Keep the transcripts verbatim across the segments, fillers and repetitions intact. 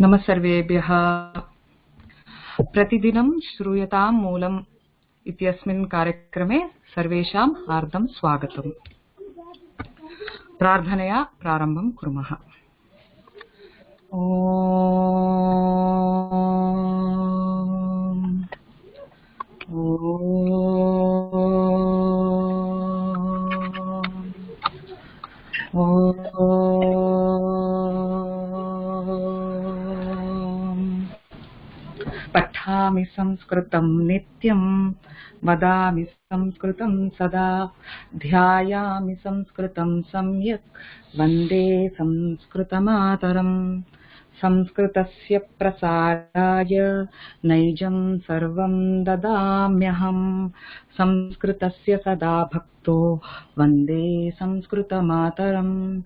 नमः सर्वेभ्यः। प्रतिदिनं श्रूयतां मूलम् इत्यस्मिन् कार्यक्रमे सर्वेषां हार्दं स्वागतम्। प्रार्थनया प्रारम्भं कुर्मः। पठामि संस्कृतं नित्यं, वदामि संस्कृतं सदा, ध्यायामि संस्कृतं सम्यक्, वन्दे संस्कृतमातरम्। संस्कृतस्य प्रसाराय नैजं सर्वं ददाम्यहम्, संस्कृतस्य सदा भक्तो वन्दे संस्कृतमातरम्।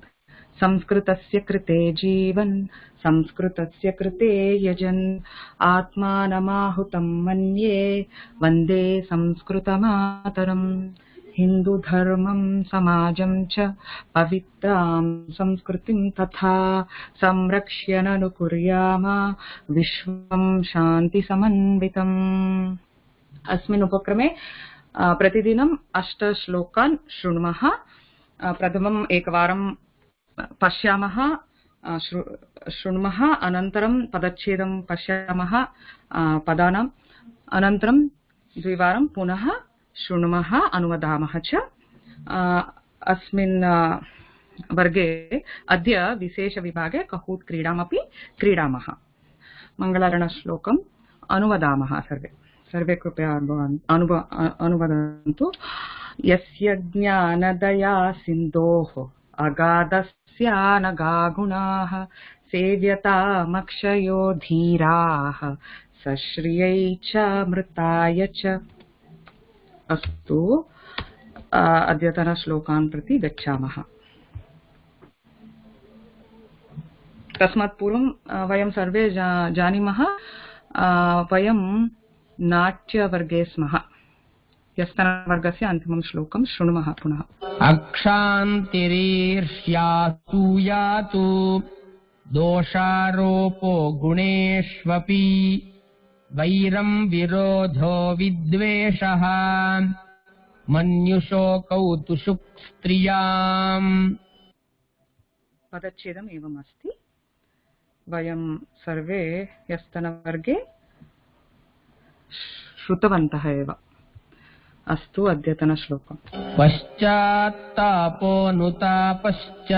संस्कृतस्य कृते जीवन्, संस्कृतस्य कृते यजन्, आत्मानमाहुतं मन्ये वन्दे संस्कृतमातरम्। हिन्दुधर्मं समाजं च पवित्रां संस्कृतिं तथा संरक्ष्य ननुकुर्याम विश्वं शान्तिसमन्वितम्। अस्मिन् उपक्रमे प्रतिदिनम् अष्ट श्लोकान् शृणुमः। प्रथमम् एकवारं पश्यामः, शृणुमः, अनन्तरं पदच्छेदं पश्यामः पदानाम्, अनन्तरं द्विवारं पुनः शृणुमः, अनुवदामः च। अस्मिन् वर्गे अद्य विशेषविभागे कहूत् क्रीडामपि क्रीडामः। मङ्गलाचरणश्लोकम् अनुवदामः। सर्वे सर्वे कृपया अनुवदन्तु। यस्य ज्ञानदया सिन्धोः अगाधस्यानगा गुणाः, सेव्यतामक्षयो धीराः, सश्रियै च मृताय च। अस्तु, अद्यतनश्लोकान् प्रति गच्छामः। तस्मात् पूर्वं वयं सर्वे जानीमः, वयं नाट्यवर्गे स्मः। ह्यस्तनवर्गस्य अन्तिमं श्लोकं शृणुमः पुनः। अक्षान्तिरीर्ष्यासूयातु दोषारोपो गुणेष्वपि, वैरं विरोधो विद्वेषः, मन्युशोकौ तुषुक् स्त्रियाम्। पदच्छेदम् एवमस्ति। वयं सर्वे ह्यस्तनवर्गे श्रुतवन्तः एव। अस्तु, अद्यतनश्लोकम्। पश्चात्तापोऽनुतापश्च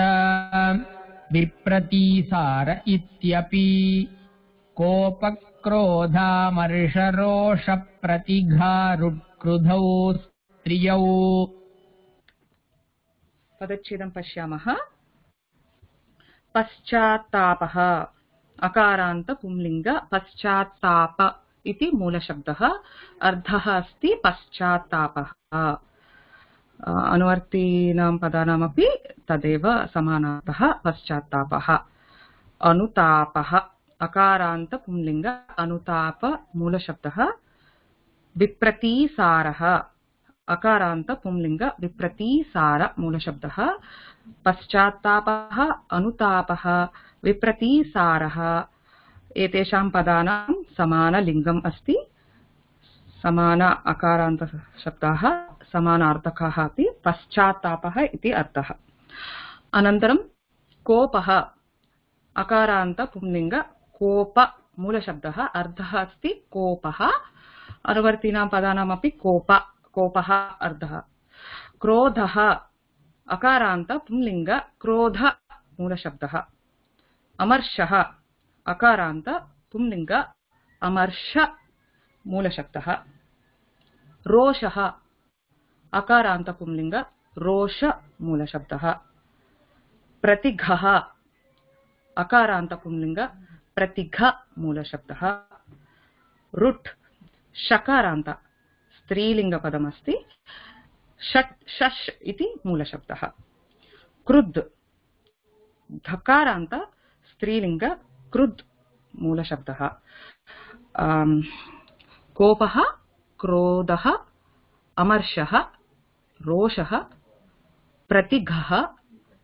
विप्रतीसार इत्यपि, कोपक्रोधामर्षरोषप्रतिघारुक्रुधौ स्त्रियौ। पदच्छेदं पश्यामः। पश्चात्तापः अकारान्त पुंलिङ्ग पश्चात्ताप इति मूलशब्दः। अर्थः अस्ति पश्चात्तापः। अनुवर्तीनां पदानामपि तदेव समानार्थः पश्चात्तापः। अनुतापः अकारान्त पुंलिङ्ग अनुताप मूलशब्दः। विप्रतीसारः अकारान्त पुंलिङ्ग विप्रतीसार मूलशब्दः। पश्चात्तापः, अनुतापः, विप्रतीसारः एतेषां पदानां समानलिङ्गम् अस्ति। समान अकारान्त शब्दाः, समानार्थकाः अपि। पश्चात्तापः इति अर्थः। अनन्तरं कोपः अकारान्त पुंलिङ्ग कोप मूलशब्दः। अर्थः अस्ति कोपः। अनुवर्तीनां पदानामपि कोप कोपः अर्थः। क्रोधः अकारान्त पुंलिङ्ग क्रोध मूलशब्दः। अमर्षः अकारान्त पुंलिङ्ग अमर्ष मूलशब्दः। रोषः अकारान्त पुंलिङ्ग रोष मूलशब्दः। प्रतिघः अकारान्त पुंलिङ्ग प्रतिघ मूलशब्दः। रुट् षकारान्त स्त्रीलिङ्गपदमस्ति। षट् शश् इति मूलशब्दः। क्रुद् धकारान्त स्त्रीलिङ्ग क्रुद् मूलशब्दः। कोपः, क्रोधः, अमर्षः, रोषः, प्रतिघः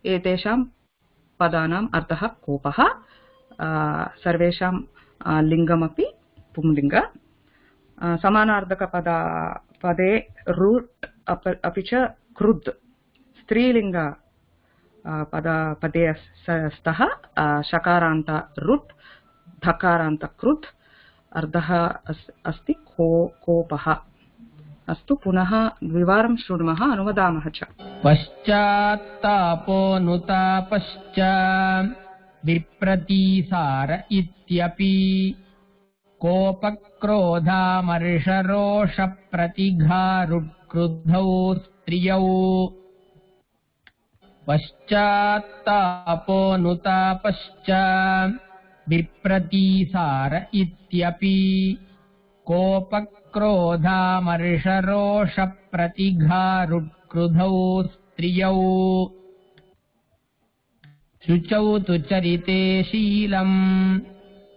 एतेषां पदानाम् अर्थः कोपः। सर्वेषां लिङ्गमपि पुंलिङ्ग समानार्थकपदा पदे रूट् अपि च कृद् स्त्रीलिङ्ग पद पदे स्तः शकारान्त रुट् धकारान्त कृत् अर्धः अस्ति को कोपः अस्तु पुनः द्विवारं शृणुमः अनुवदामः च पश्चात्तापोऽनुतापश्च विप्रतीसार इत्यपि कोपक्रोधामर्षरोषप्रतिघारुक्रुद्धौ स्त्रियौ पश्चात्तापोऽनुतापश्च विप्रतीसार इत्यपि कोपक्रोधामर्षरोषप्रतिघारुक्रुधौ स्त्रियौ शुचौ तु चरिते शीलम्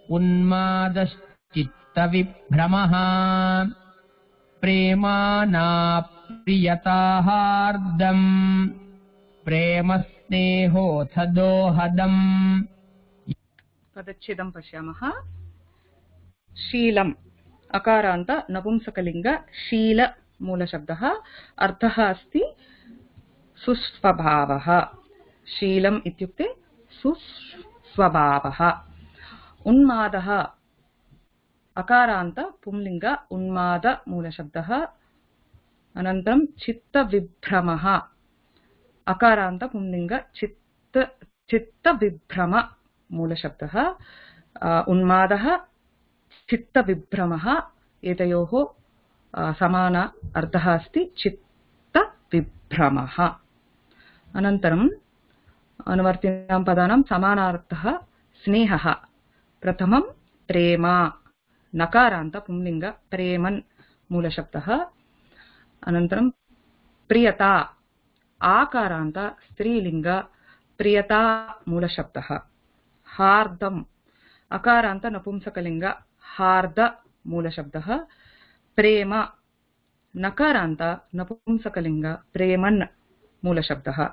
उन्मादश्चित्तविभ्रमः प्रेमानाप्रियताहार्दम् प्रेमस्नेहोऽथ दोहदम् पदच्छेदं पश्यामः शीलम् अकारान्त नपुंसकलिङ्ग शील मूलशब्दः अर्थः अस्ति सुस्वभावः शीलम् इत्युक्ते सुस्वभावः उन्मादः अकारान्त पुंलिङ्ग उन्माद मूलशब्दः अनन्तरं चित्तविभ्रमः अकारान्त पुंलिङ्ग चित्त चित्तविभ्रम मूलशब्दः उन्मादः चित्तविभ्रमः एतयोः समान अर्थः अस्ति चित्तविभ्रमः अनन्तरम् अनुवर्तिनां पदानां समानार्थः स्नेहः प्रथमं प्रेम नकारान्त पुंलिङ्ग प्रेमन् मूलशब्दः अनन्तरं प्रियता आकारान्त स्त्रीलिङ्ग प्रियता मूलशब्दः हार्दम् अकारान्त नपुंसकलिङ्ग हार्द मूलशब्दः प्रेम नकारान्त नपुंसकलिङ्ग प्रेमन् मूलशब्दः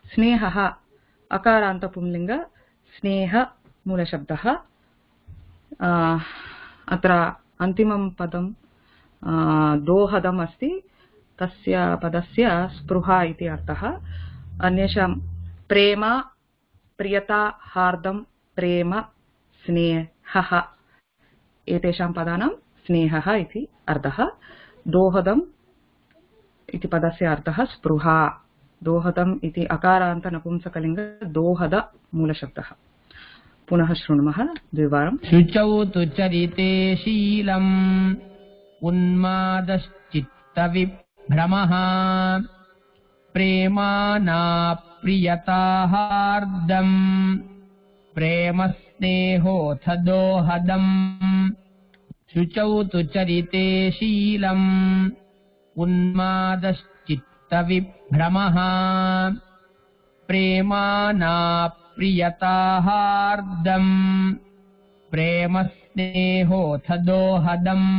स्नेहः अकारान्त पुंलिङ्ग स्नेह मूलशब्दः अत्र अन्तिमं पदं दोहदम् अस्ति तस्य पदस्य स्पृहा इति अर्थः अन्येषां प्रेम प्रियता हार्दं प्रेम स्नेहः एतेषां पदानां स्नेहः इति अर्थः दोहदम् इति पदस्य अर्थः स्पृहा दोहदम् इति अकारान्त नपुंसकलिङ्ग दोहद मूलशब्दः पुनः शृणुमः द्विवारं शुचौ तु चरिते शीलम् उन्मादश्चित्तविभ्रमः प्रेमानाप्रियताहार्दम् प्रेमस्नेहोऽथ दोहदम् शुचौ तु चरिते शीलम् उन्मादश्चित्तविभ्रमः प्रेमानाप्रियताहार्दम् प्रेमस्नेहोऽथ दोहदम्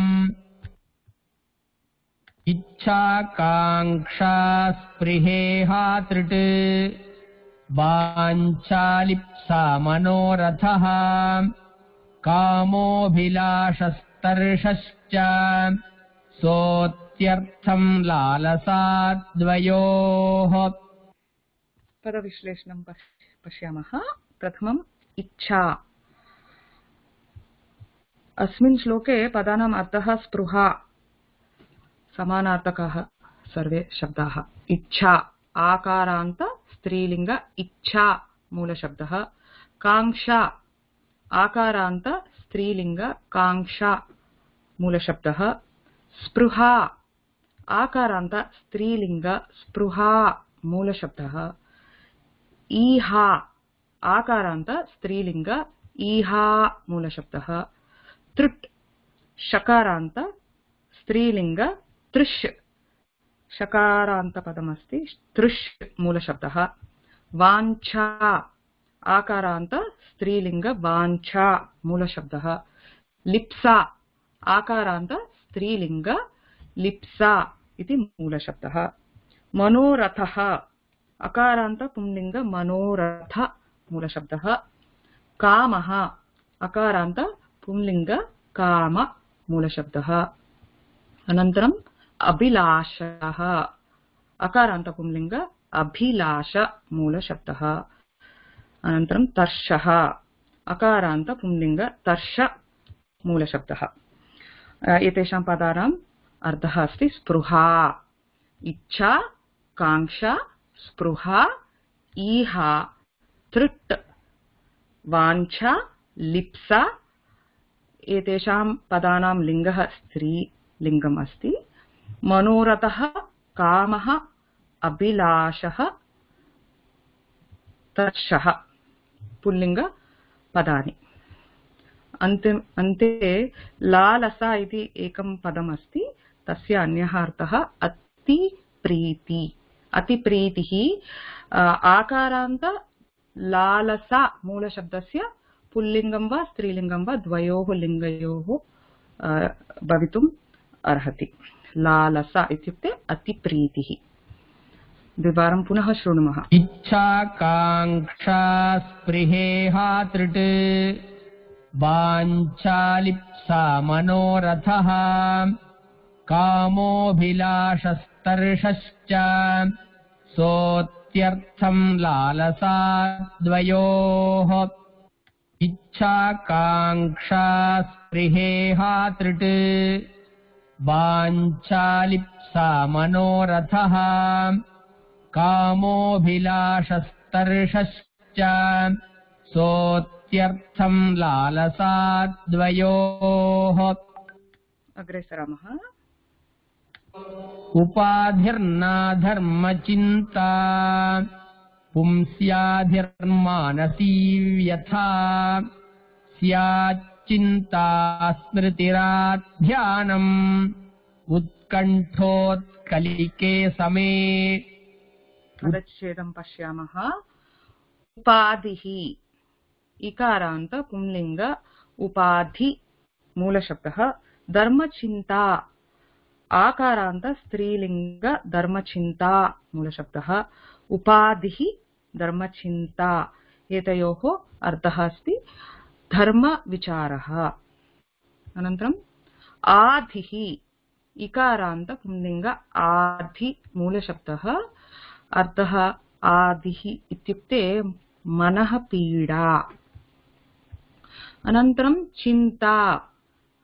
इच्छाकाङ्क्षा स्पृहेहा तृट् वाञ्छालिप्सा मनोरथः कामोऽभिलाषस्तर्षश्च सोऽत्यर्थं लालसाद्वयोः पदविश्लेषणं पश्यामः प्रथमम् इच्छा अस्मिन् श्लोके पदानाम् अर्थः स्पृहा समानार्थकाः सर्वे शब्दाः इच्छा आकारान्त स्त्रीलिङ्ग इच्छा मूलशब्दः काङ्क्षा आकारान्त स्त्रीलिङ्ग काङ्क्षा मूलशब्दः स्पृहा आकारान्त स्त्रीलिङ्ग स्पृहा मूलशब्दः ईहा आकारान्त स्त्रीलिङ्ग ईहा मूलशब्दः तृट् शकारान्त स्त्रीलिङ्ग तृष् शकारान्त पदमस्ति तृष् मूलशब्दः वाञ्छा आकारान्त स्त्रीलिङ्ग वाञ्छा मूलशब्दः लिप्सा आकारान्त स्त्रीलिङ्ग लिप्सा इति मूलशब्दः मनोरथः अकारान्त पुंलिङ्ग मनोरथ मूलशब्दः कामः अकारान्त पुंलिंग काम मूलशब्दः। अनन्तरम् अभिलाषः अकारान्त पुंलिंग अभिलाष मूलशब्दः। अनन्तरं तर्षः अकारान्त पुंलिंग तर्ष मूलशब्दः। एतेषां पदानाम् अर्थः अस्ति स्पृहा, इच्छा, काङ्क्षा, स्पृहा, ईहा, तृट्, वाञ्छा, लिप्सा। एतेषां पदानां लिङ्गः स्त्रीलिङ्गम् अस्ति। मनोरथः, कामः, अभिलाषः, तर्षः पुल्लिङ्ग पदानि। अन्ते अन्ते लालसा इति एकं पदम् अस्ति। तस्य अन्यः अर्थः अतिप्रीति। अतिप्रीतिः आकारान्त लालसा मूलशब्दस्य पुल्लिङ्गं वा स्त्रीलिङ्गं वा द्वयोः लिङ्गयोः भवितुम् अर्हति। लालसा इत्युक्ते अतिप्रीतिः। द्विवारं पुनः शृणुमः। इच्छा काङ्क्षा स्पृहेहा तृट् वाञ्छालिप्सा मनोरथः कामोऽभिलाषस्तर्षश्च सोऽत्यर्थं लालसा द्वयोः। इच्छा काङ्क्षा स्पृहेहा तृट् वाञ्छालिप्सा मनोरथः कामोऽभिलाषस्तर्षश्च सोऽत्यर्थं लालसा द्वयोः। अग्रे सरामः। उपाधिर्नाधर्मचिन्ता पुंस्याधिर्मानसी व्यथा स्याच्चिन्ता स्मृतिराध्यानम् उत्कण्ठोत्कलिके समे। पदच्छेदं पश्यामः। उपाधिः इकारान्त पुंलिंग उपाधि मूलशब्दः। धर्मचिन्ता आकारान्त स्त्रीलिंग धर्मचिन्ता मूलशब्दः। उपाधिः धर्मचिन्ता एतयोः अर्थः अस्ति धर्मविचारः। अनन्तरम् आधिः इकारान्त पुंलिंग आधि मूलशब्दः। अर्थः आधिः इत्युक्ते मनः पीडा। अनन्तरं चिन्ता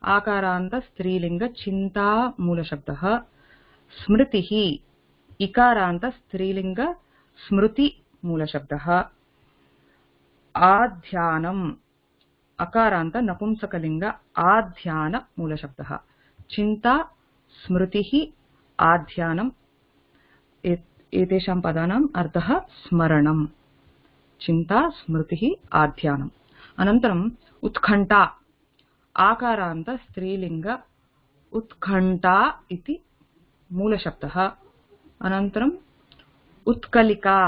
आकारान्त स्त्रीलिंग चिन्ता मूलशब्दः। स्मृतिः इकारान्त स्त्रीलिंग स्मृति मूलशब्दः। आध्यानम् अकारान्त नपुंसकलिंग आध्यान मूलशब्दः। चिन्ता स्मृतिः आध्यानम् एतेषां पदानाम् अर्थः स्मरणम्। चिन्ता स्मृतिः आध्यानम्। अनन्तरम् उत्कण्ठा आकारान्त स्त्रीलिंग उत्कण्ठा इति मूलशब्दः। अनन्तरम् उत्कलिका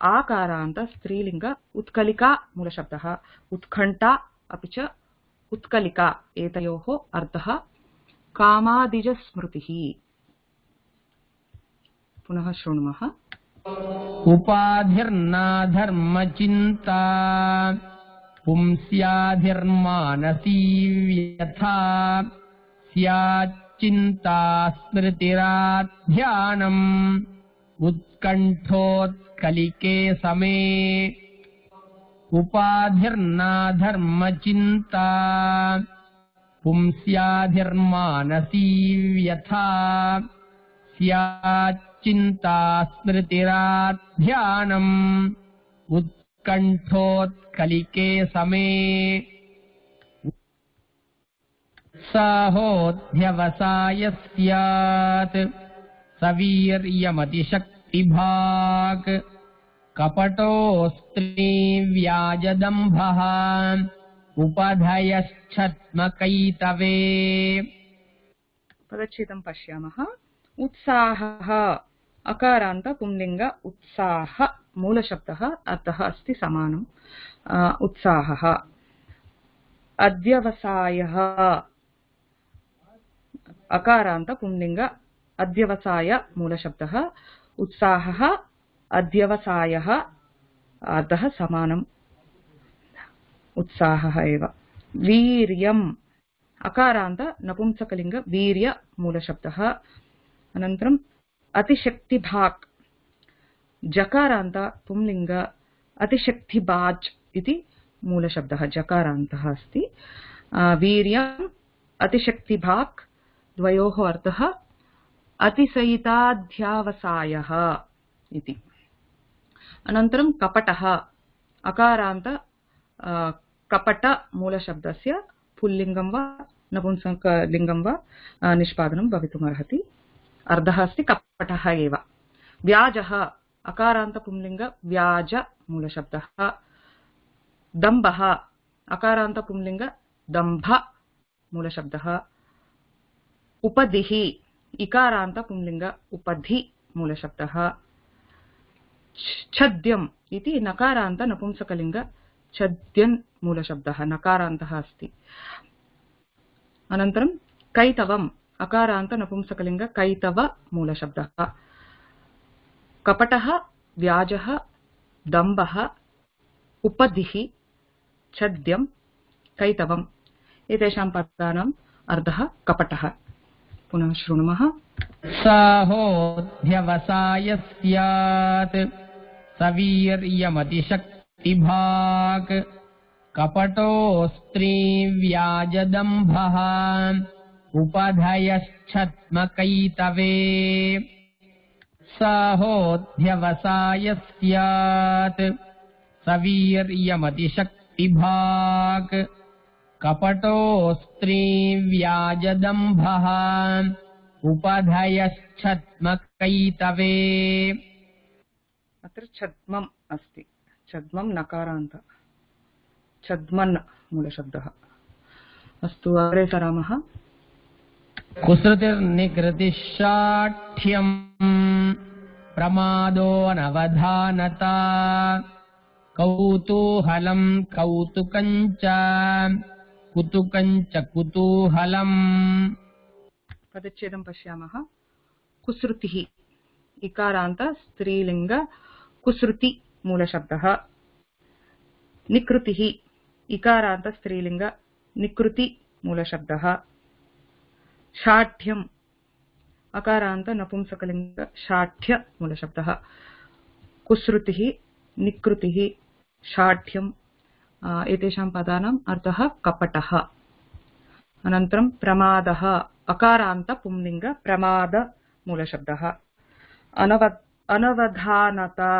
आकारान्त स्त्रीलिंग उत्कलिका मूलशब्दः। उत्कण्ठा अपि च उत्कलिका एतयोः अर्थः कामादिजस्मृतिः। पुनः शृणुमः। उपाधिर्नाधर्मचिन्ता पुंस्याधिर्मानसी व्यथा स्याच्चिन्ता स्मृतिराध्यानम् उत्कण्ठोत्कलिके समे। उपाधिर्नाधर्मचिन्ता पुंस्याधिर्मानसी व्यथा स्याच्चिन्ता स्मृतिराध्यानम् उत्कण्ठोत्कलिके समे। उत्साहोऽध्यवसाय स्यात् सवीर्यमतिशक्तिभाक् कपटोऽस्त्रीव्याजदम्भः उपधयश्छद्मकैतवे। पदच्छेदं पश्यामः। उत्साहः अकारान्त पुंलिंग उत्साह मूलशब्दः। अर्थः अस्ति समानम्। उत्साहः। अध्यवसायः अकारान्त पुंलिंग अध्यवसाय मूलशब्दः। उत्साहः अध्यवसायः अर्थः समानम्। उत्साहः एव। वीर्यम् अकारान्त नपुंसकलिङ्ग वीर्य मूलशब्दः। अनन्तरम् अतिशक्तिभाक् जकारान्त पुंलिङ्ग अतिशक्तिबाज् इति मूलशब्दः जकारान्तः अस्ति। वीर्यम् अतिशक्तिभाक् द्वयोः अर्थः अतिशयिताध्यावसायः इति। अनन्तरं कपटः अकारान्त कपट मूलशब्दस्य पुल्लिङ्गं वा नपुंसकलिङ्गं वा निष्पादनं भवितुमर्हति। अर्थः अस्ति कपटः एव। व्याजः अकारान्त पुंलिङ्ग व्याज मूलशब्दः। दम्भः अकारान्त पुंलिङ्ग दम्भ मूलशब्दः। उपधिः इकारान्त पुंलिङ्ग उपधि मूलशब्दः। छद्यम् इति नकारान्त नपुंसकलिङ्ग छद्यन् मूलशब्दः नकारान्तः अस्ति। अनन्तरं कैतवम् अकारान्त नपुंसकलिङ्ग कैतव मूलशब्दः। कपटः व्याजः दम्भः उपधिः छद्यं कैतवम् एतेषां पदानाम् अर्थः कपटः। पुनः शृणुमः। साहोध्यवसायस्यात् सवीर्यमतिशक्तिभाक् कपटो स्त्रीव्याजदम्भः उपधयश्छद्मकैतवे। साहोध्यवसायस्यात् सवीर्यमतिशक्तिभाक् कपटो स्त्रीव्याजदम्भः उपधयश्छद्मकैतवे। अत्र छद्मम् अस्ति। छद्मं नकारान्त छद्मन् मूलशब्दः। अस्तु अग्रे सरामः। कुसृतिर्निकृतिशाठ्यम् प्रमादो अनवधानता कौतूहलं कौतुकञ्च कुतुकञ्च कुतूहलम्। पदच्छेदं पश्यामः। कुसृतिः इकारान्त स्त्रीलिङ्ग कुसृति मूलशब्दः। निकृतिः इकारान्त स्त्रीलिङ्ग निकृति मूलशब्दः। शाठ्यम् अकारान्त नपुंसकलिङ्ग शाठ्य मूलशब्दः। कुसृतिः निकृतिः शाठ्यम् एतेषां पदानाम् अर्थः कपटः। अनन्तरं प्रमादः अकारान्त पुंलिङ्ग प्रमाद मूलशब्दः। अनव अनवधानता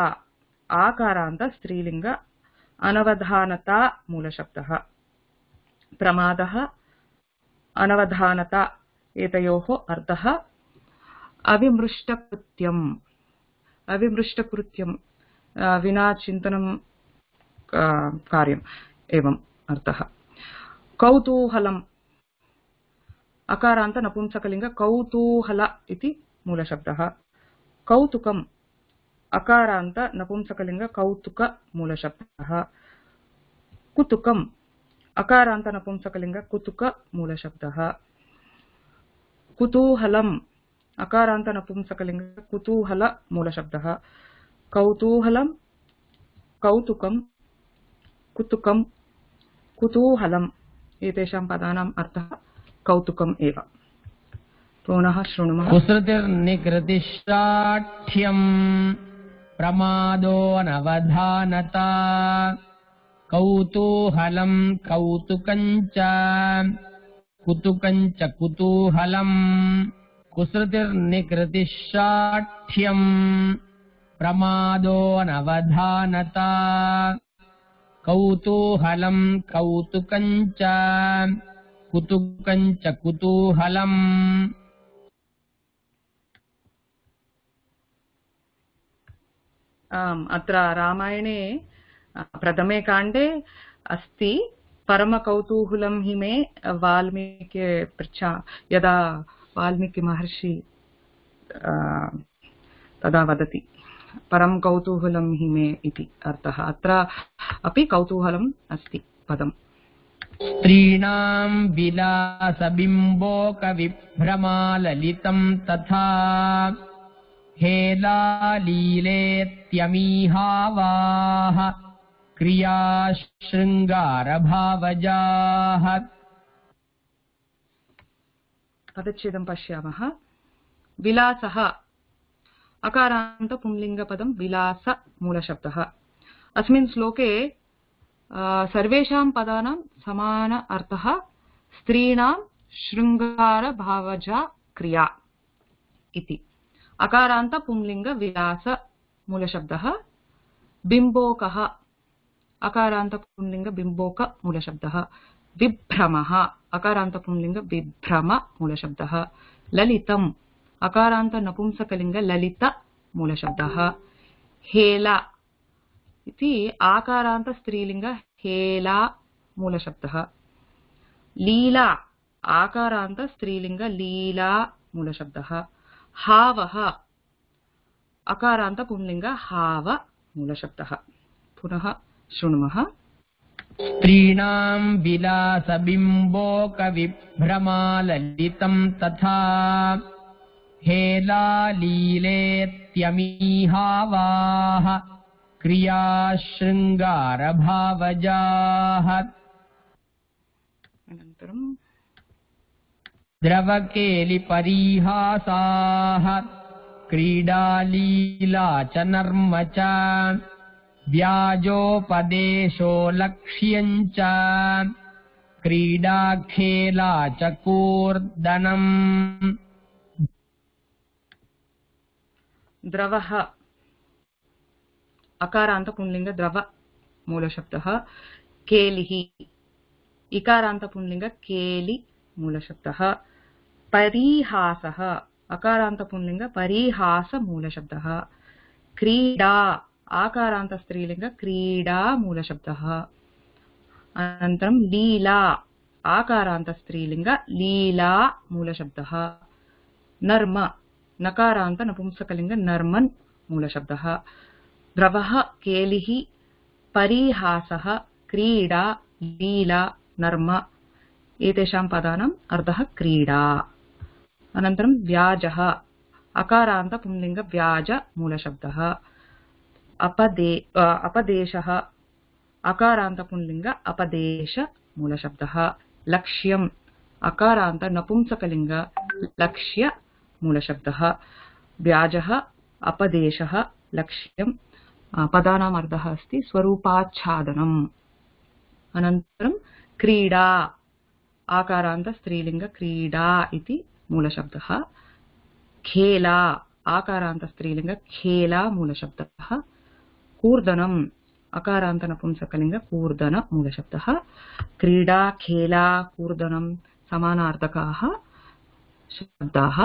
आकारान्त स्त्रीलिङ्ग अनवधानता मूलशब्दः। प्रमादः अनवधानता एतयोः अर्थः अविमृष्टकृत्यम् अविमृष्टकृत्यं विना चिन्तनं कार्यम् एवम् अर्थः। कौतूहलम् अकारान्त नपुंसकलिङ्ग कौतूहल इति मूलशब्दः। कौतुकम् अकारान्त नपुंसकलिङ्ग कौतुक मूलशब्दः। कुतुकम् अकारान्त नपुंसकलिङ्ग कुतुक मूलशब्दः। कुतूहलम् अकारान्त नपुंसकलिङ्ग कुतूहल मूलशब्दः। कौतूहलं कौतुकं कुतुकं कुतूहलम् एतेषां पदानाम् अर्थः कौतुकम् एव। पुनः शृणुमः। कुसृतिर्निकृतिशाठ्यम् प्रमादो अनवधानता कौतूहलं कौतुकञ्च कुतुकञ्च कुतूहलम्। कुसृतिर्निकृतिशाठ्यम् प्रमादो अनवधानता कौतूहलं कौतुकञ्च कुतुकञ्च कुतूहलम्। अत्र रामायणे प्रथमे काण्डे अस्ति परमकौतूहलं हि मे वाल्मीकि पृच्छा यदा वाल्मीकि महर्षि तदा वदति परम कौतूहलं हि मे इति अर्थः। अत्र अपि कौतूहलम् अस्ति पदम्। स्त्रीणां विलासबिम्बोकविभ्रमाललितं तथा हेलालीलेत्यमीहावाः क्रिया शृंगार भावजाः। पदच्छेदं पश्यामः। विलासः अकारान्त पुंलिङ्गपदं विलास मूलशब्दः। अस्मिन् श्लोके सर्वेषां पदानां समान अर्थः स्त्रीणां शृङ्गार भावजा क्रिया इति। अकारान्त पुंलिङ्ग विलास मूलशब्दः। बिम्बोकः अकारान्त पुंलिङ्ग बिम्बोक मूलशब्दः। विभ्रमः अकारान्त पुंलिङ्ग विभ्रम मूलशब्दः। ललितम् अकारान्त नपुंसकलिङ्ग ललित मूलशब्दः। हेला इति आकारान्त स्त्रीलिङ्ग हेला मूलशब्दः। लीला आकारान्त स्त्रीलिङ्ग लीला मूलशब्दः। हावः अकारान्त पुंलिङ्ग हाव मूलशब्दः। पुनः शृणुमः। स्त्रीणां विलासबिम्बोक विभ्रमाललितं तथा हेलालीलेत्यमीहावाः क्रिया शृंगार भावजाः। अनन्तरं द्रवकेलिपरीहासाः क्रीडालीला च नर्म च व्याजोपदेशो लक्ष्यं च क्रीडाखेला च कूर्दनम्। द्रवः अकारान्त पुंलिङ्ग द्रव मूलशब्दः। केलिः इकारान्त पुंलिङ्ग केलि मूलशब्दः। परिहासः अकारान्त पुंलिङ्ग परिहास मूलशब्दः। क्रीडा आकारान्त स्त्रीलिङ्ग क्रीडा मूलशब्दः। अनन्तरं लीला आकारान्त स्त्रीलिङ्ग लीला मूलशब्दः। नर्म नकारान्त नपुंसकलिङ्ग नर्मन् मूलशब्दः। द्रवः केलिः परिहासः क्रीडा लीला नर्म एतेषां पदानाम् अर्थः क्रीडा। अनन्तरं व्याजः अकारान्त पुंलिङ्ग व्याज मूलशब्दः। अपदे अपदेशः अकारान्त पुंलिङ्ग अपदेश मूलशब्दः। लक्ष्यम् अकारान्त नपुंसकलिङ्ग लक्ष्य मूलशब्दः। व्याजः अपदेशः लक्ष्यं पदानाम् अर्थः अस्ति स्वरूपाच्छादनम्। अनन्तरं क्रीडा आकारान्त स्त्रीलिङ्ग क्रीडा इति मूलशब्दः। खेला आकारान्त स्त्रीलिङ्ग खेला मूलशब्दः। कूर्दनम् अकारान्त नपुंसकलिङ्ग कूर्दन मूलशब्दः। क्रीडा खेला कूर्दनं समानार्थकाः शब्दाः।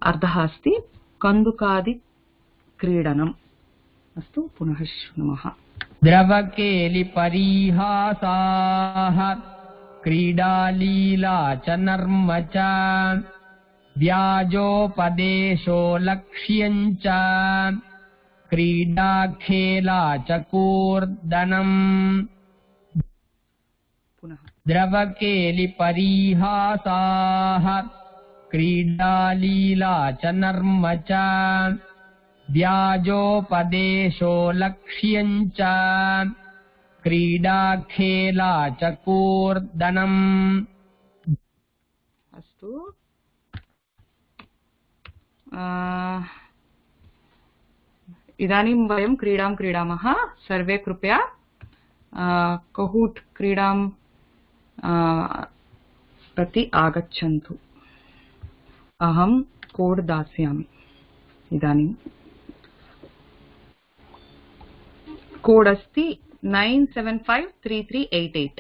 अर्थः अस्ति कन्दुकादि क्रीडनम्। अस्तु पुनः शृणुमः। द्रवकेलिपरीहासाः क्रीडालीला च नर्म च व्याजोपदेशो लक्ष्यं च क्रीडाखेला च कूर्दनम्। पुनः द्रवकेलिपरीहासाः क्रीडालीला च नर्म च व्याजोपदेशो लक्ष्यं च क्रीडाखेला च कूर्दनम्। अस्तु इदानीं वयं क्रीडां क्रीडामः। सर्वे कृपया कहूट क्रीडां प्रति आगच्छन्तु। अहं कोड् दास्यामि। इदानीं कोड् अस्ति nine seven five three three eight eight.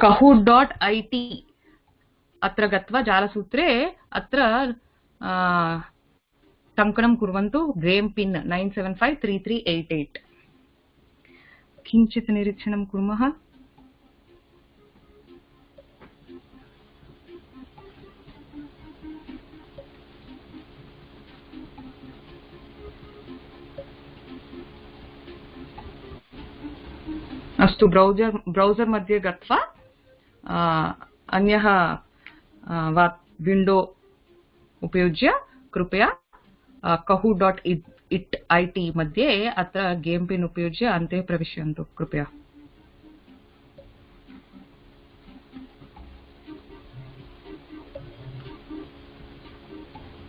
kahut dot I T अत्र गत्वा जालसूत्रे अत्र टङ्कनं कुर्वन्तु। Game pin nine seven five three three eight eight. किञ्चित् निरीक्षणं कुर्मः। अस्तु ब्रौजर् ब्रौजर् मध्ये गत्वा अन्यः विंडो उपयुज्य कृपया कहू डाट् इट् ऐ टि मध्ये अत्र गेम् पिन् उपयुज्य अन्ते प्रविशन्तु कृपया।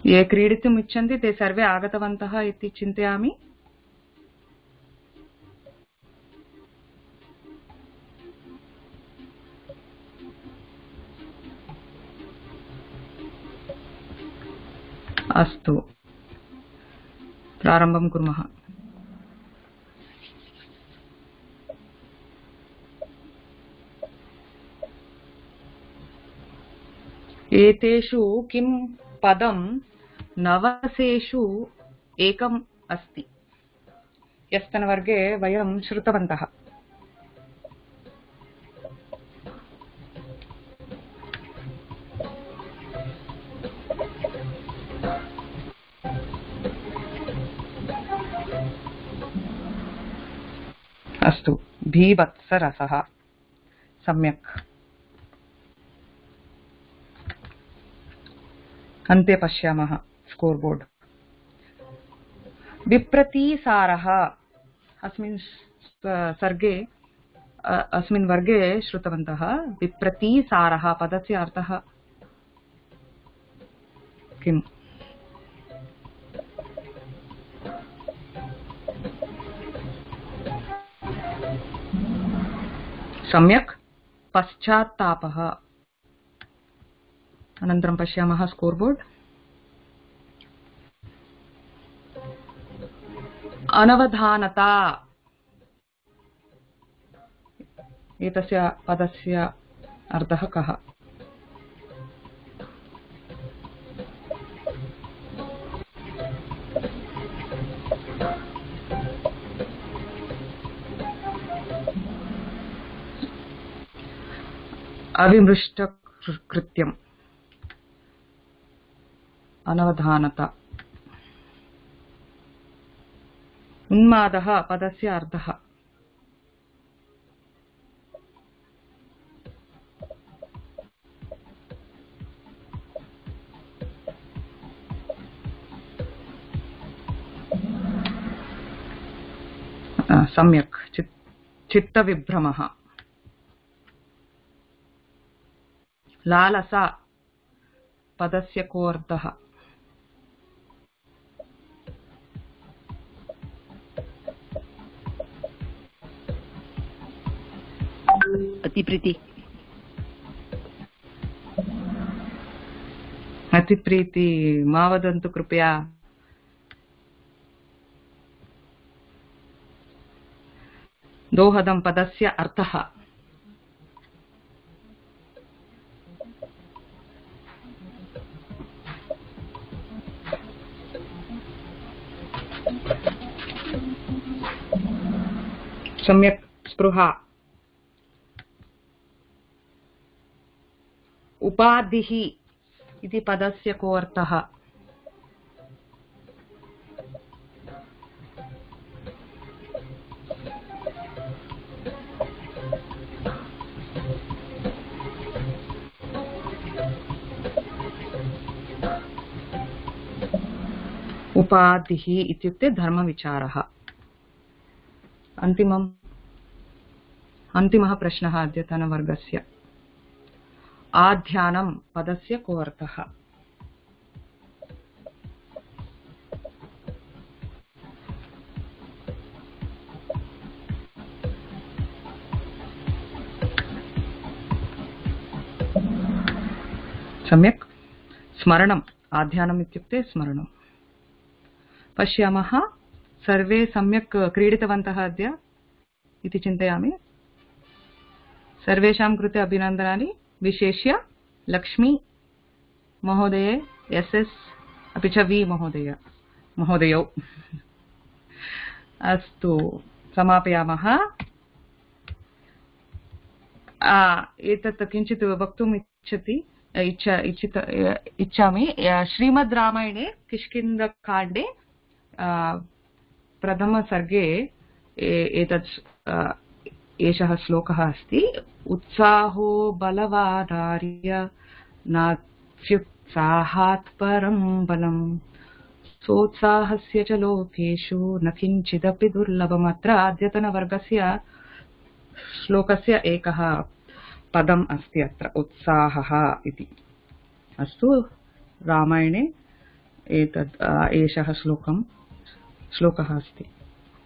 ये क्रीडितुम् इच्छन्ति ते सर्वे आगतवन्तः इति चिन्तयामि। अस्तु प्रारम्भं कुर्मः। एतेषु किं पदं नवसेषु एकम् अस्ति? ह्यस्तनवर्गे वयं श्रुतवन्तः। अस्तु भीभत्सरसः सम्यक्। अन्ते पश्यामः स्कोर् बोर्ड्। विप्रतीसारः अस्मिन् सर्गे अस्मिन् वर्गे श्रुतवन्तः। विप्रतीसारः पदस्य अर्थः किम्? सम्यक् पश्चात्तापः। अनन्तरं पश्यामः स्कोर् बोर्ड्। अनवधानता एतस्य पदस्य अर्थः कः? अविमृष्टकृत्यम् अनवधानता। उन्मादः पदस्य अर्थः? सम्यक् चित्तविभ्रमः। लालसा पदस्य को अर्थः? अतिप्रीति। अतिप्रीति मा वदन्तु कृपया। दोहदं पदस्य अर्थः? सम्यक् स्पृहा। उपाधिः इति पदस्य को अर्थः? उपाधिः इत्युक्ते धर्मविचारः। अन्तिमम् अन्तिमः प्रश्नः अद्यतनवर्गस्य। आध्यानं पदस्य को अर्थः? सम्यक् स्मरणम्। आध्यानम् इत्युक्ते स्मरणम्। पश्यामः सर्वे सम्यक् क्रीडितवन्तः अद्य इति चिन्तयामि। सर्वेषां कृते अभिनन्दनानि, विशेष्य लक्ष्मी महोदये, एस् एस् अपि च वि महोदय महोदयौ। अस्तु समापयामः। एतत् किञ्चित् वक्तुम् इच्छति इच्छा इच्छित इच्छामि। श्रीमद् रामायणे किष्किन्धकाण्डे प्रथमसर्गे एतत् एषः श्लोकः अस्ति। उत्साहो बलवानार्य नात्युत्साहात् परं बलम् सोत्साहस्य च लोकेषु न किञ्चिदपि दुर्लभम्। अत्र अद्यतनवर्गस्य श्लोकस्य एकः पदम् अस्ति अत्र उत्साहः इति। अस्तु, रामायणे एतद् एषः श्लोकं श्लोकः अस्ति।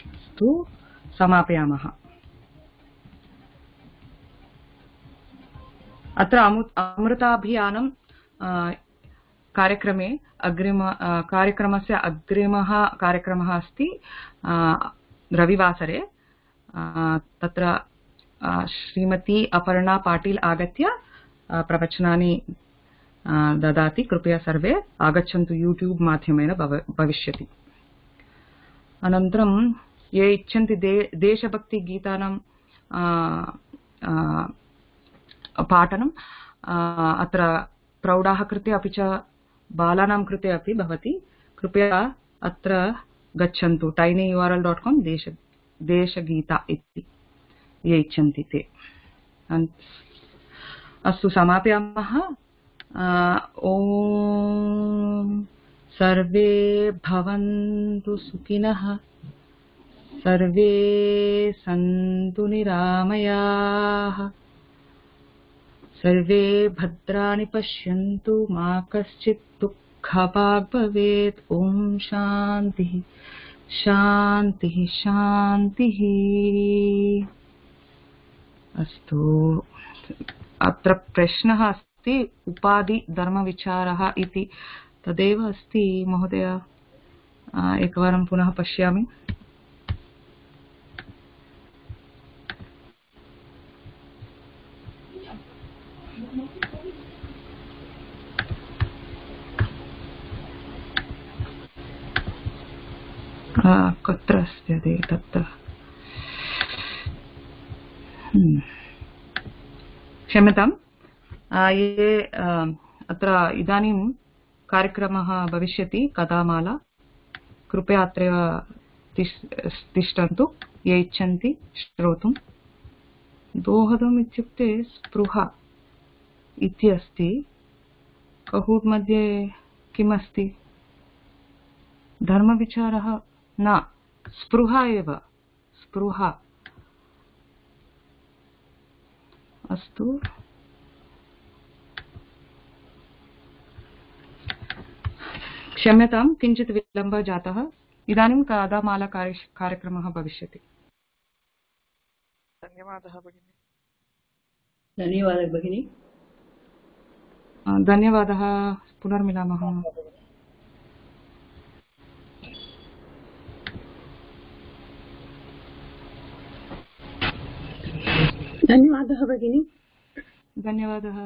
अस्तु, समापयामः। अत्र अमृताभियानं कार्यक्रमे अग्रिम कार्यक्रमस्य अग्रिमः कार्यक्रमः अस्ति रविवासरे। तत्र श्रीमती अपर्णा पाटिल आगत्य प्रवचनानि ददाति। कृपया सर्वे आगच्छन्तु। यूट्यूब माध्यमेन भविष्यति। अनन्तरं ये इच्छन्ति दे देशभक्तिगीतानां पाठनं अत्र प्रौढाः कृते अपि च बालानां कृते अपि भवति। कृपया अत्र गच्छन्तु टाइनी यू आर एल डॉट कॉम देश देशगीता इति ये इच्छन्ति ते। अस्तु, समापयामः। ओम सर्वे भवन्तु सुखिनः, सर्वे सन्तु निरामयाः, सर्वे भद्राणि पश्यन्तु, मा कश्चित् दुःखभाग् भवेत्। ओम शान्तिः शान्तिः शान्तिः। अस्तु, अत्र प्रश्नः अस्ति उपाधि धर्मविचारः इति। तदेव अस्ति महोदय। एकवारं पुनः पश्यामि। कुत्र अस्ति तत्र? क्षम्यतां। ये अत्र इदानीं कार्यक्रमः भविष्यति कथामाला। कृपया अत्रैव तिष्ठन्तु ये इच्छन्ति श्रोतुं। दोहदम् इत्युक्ते स्पृहा इति अस्ति। कहूट् मध्ये किम् अस्ति? धर्मविचारः न, स्पृहा एव, स्पृहा। अस्तु, क्षम्यतां, किञ्चित् विलम्बः जातः। इदानीं कथामाला कार्यक्रमः भविष्यति। धन्यवादः भगिनी। धन्यवादः भगिनी। धन्यवादः। पुनर्मिलामः। धन्यवादः भगिनी। धन्यवादः।